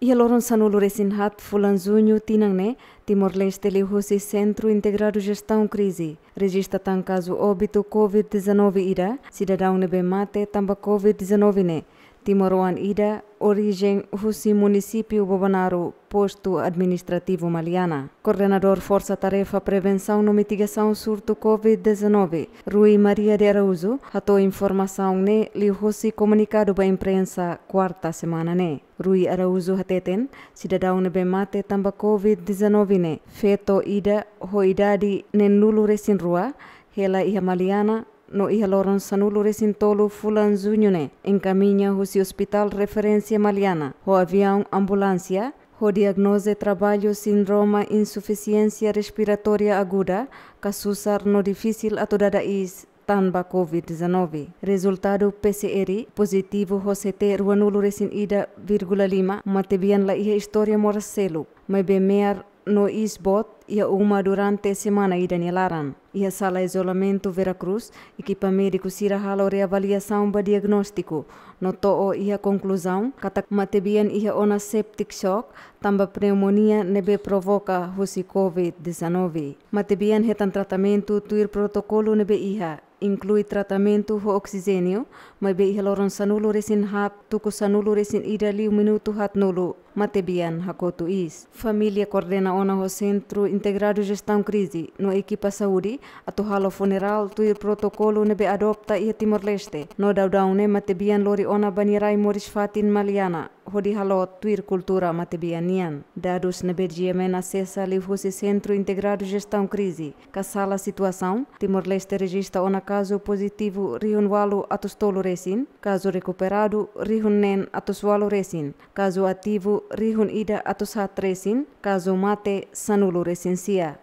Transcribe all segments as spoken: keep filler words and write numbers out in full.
Iha loron sanulu resin haat fulan Juñu tinan ne'e, Timor-Leste liuhusi Sentru Integradu Jestaun Krize rejista tan kazu óbitu COVID-19 ida, sidadaun ne'ebé mate tanba COVID-19 ne'e timoroan ida, orijen husi munisípiu Bobonaro, postu administrativu Maliana. Koordenadór Forsa Tarefa Prevensaun no Mitigasaun Surtu COVID-19, Rui Maria de Araújo, hato'o informasaun ne'e liuhusi komunikadu ba imprensa kuarta semana ne'e. Rui Araújo hateten, sidadaun ne'ebé mate tanba COVID-19 ne'e feto ida ho idade neenulu resin rua, hela iha Maliana, no iha loron sanulu resin tolu fulan Juñu ne'e enkamiña husi Hospital Referénsia Maliana ho aviaun ambulánsia, ho diagnoze traballu sindrome insufisiénsia respiratória aguda, ka susar no difisil atu dada iis tanba COVID-19. Rezultadu PCR pozitivu ho CT ruanulu resin ida vírgula lima, matebian la iha istória moras seluk, maibé me'ar no iis boot iha uma durante semana ida nia laran. Iha sala izolamentu Vera Cruz, ekipa médiku sira halo reavaliasaun ba diagnóstiku, no to'o iha konkluzaun katak matebian iha ona septic shock tanba pneumonia ne'ebé provoka husi COVID-19. Matebian hetan tratamentu tuir protokolu ne'ebé iha, inklui tratamentu ho oksijéniu, maibé iha loron sanulu resin haat tuku sanulu resin ida liu minutu haatnulu, matebian hakotu iis. Família koordena ona ho Sentru Integradu Jestaun Krize no ekipa saúde atu halo funerál tuir protokolu ne'ebé adopta iha Timor-Leste, no daudaun ne'e matebian lori ona ba nia rai moris fatin Maliana, hodi halo tuir kultura matebian nian. Dadus ne'ebé GMN asesa liuhusi Sentru Integradu Jestaun Krize ka sala situasaun, Timor-Leste rejista ona kazu pozitivu rihun ualu atus tolu resin, kazu rekuperadu rihun neen atus ualu resin, kazu ativu rihun ida atus haat resin, kazu mate sanulu resin sia.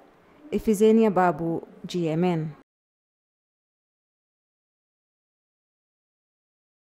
Efizénia Babu, GMN.